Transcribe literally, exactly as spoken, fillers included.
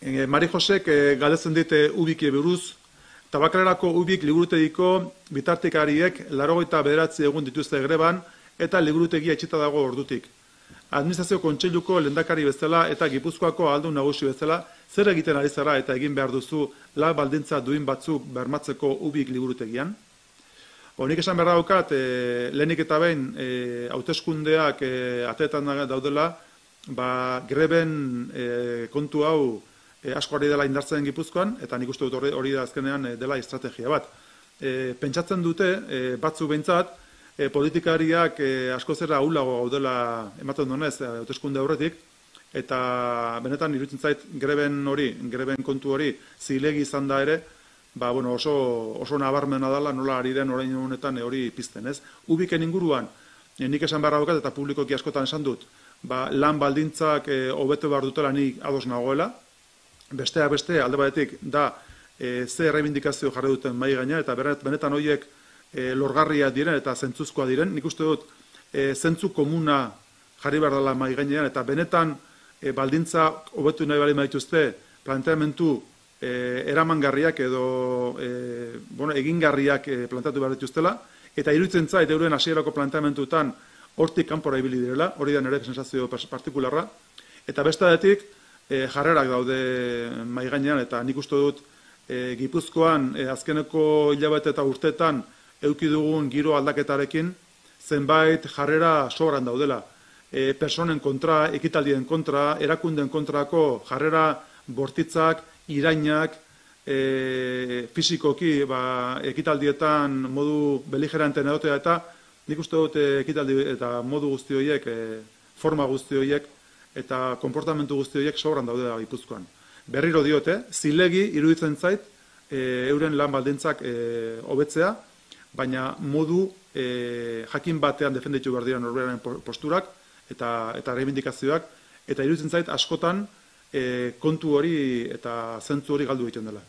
Mari Josek galdetzen dit ubiki buruz, Tabakalerako ubik liburutegiko bitartekariek laurogeita bederatzi egun dituzte greban eta liburutegia itxita dago ordutik. Administrazio kontseiluko lehendakari bezala eta Gipuzkoako ahaldun nagusi bezala zer egiten ari zara eta egin behar duzu lan baldintza duin batzuk bermatzeko ubik liburutegian? Nik esan behar daukat, lehenik eta behin hauteskundeak ateetan daudela, greben kontu hau asko ari dela indartzen Gipuzkoan, eta nik uste dut hori da azkenean dela estrategia bat. Pentsatzen dute, batzu behintzat, politikariak asko zera ahulago gaudela ematen duenez hauteskunde aurretik, eta benetan iruditzen zait greben hori, greben kontu hori zilegi izan da ere, oso nabarmena dela nola ari den orain honetan hori pizten, ez? Ubiken inguruan, nik esan behar daukat eta publikoki askotan esan dut, lan baldintzak hobetu behar dutela nik ados nagoela, besteak beste alde batetik da ze errebindikazio jarri duten mahai gaina eta benetan horiek lorgarriak diren eta zentzuzkoa diren. Nik uste dut zentzu komuna jarri behar dela mahai gainean eta benetan baldintza hobetu nahi bali maituzte planteamentu eramangarriak edo egingarriak planteatu behar dituztela eta iruditzen zait euren hasierako planteamentutan hortik kanpora ibili direla, hori da nire sensazio partikularra, eta bestetik jarrerak daude mahai gainean eta nik uste dut Gipuzkoan azkeneko hilabete eta urteetan eduki dugun giro aldaketarekin zenbait jarrera sobran daudela. Personen kontra, ekitaldien kontra, erakunden kontrako jarrera bortitzak, irainak, fizikoki ekitaldietan modu beligeranten edotea eta nik uste dut ekitaldi eta modu guzti horiek, forma guzti horiek eta konportamentu guzti horiek sobran daude da Gipuzkoan. Berriro diote, zilegi iruditzen zait euren lan baldintzak hobetzea, baina modu jakin batean defenditu behar dira norberaren posturak eta reivindikazioak, eta iruditzen zait askotan kontu hori eta zentzu hori galdu egiten dela.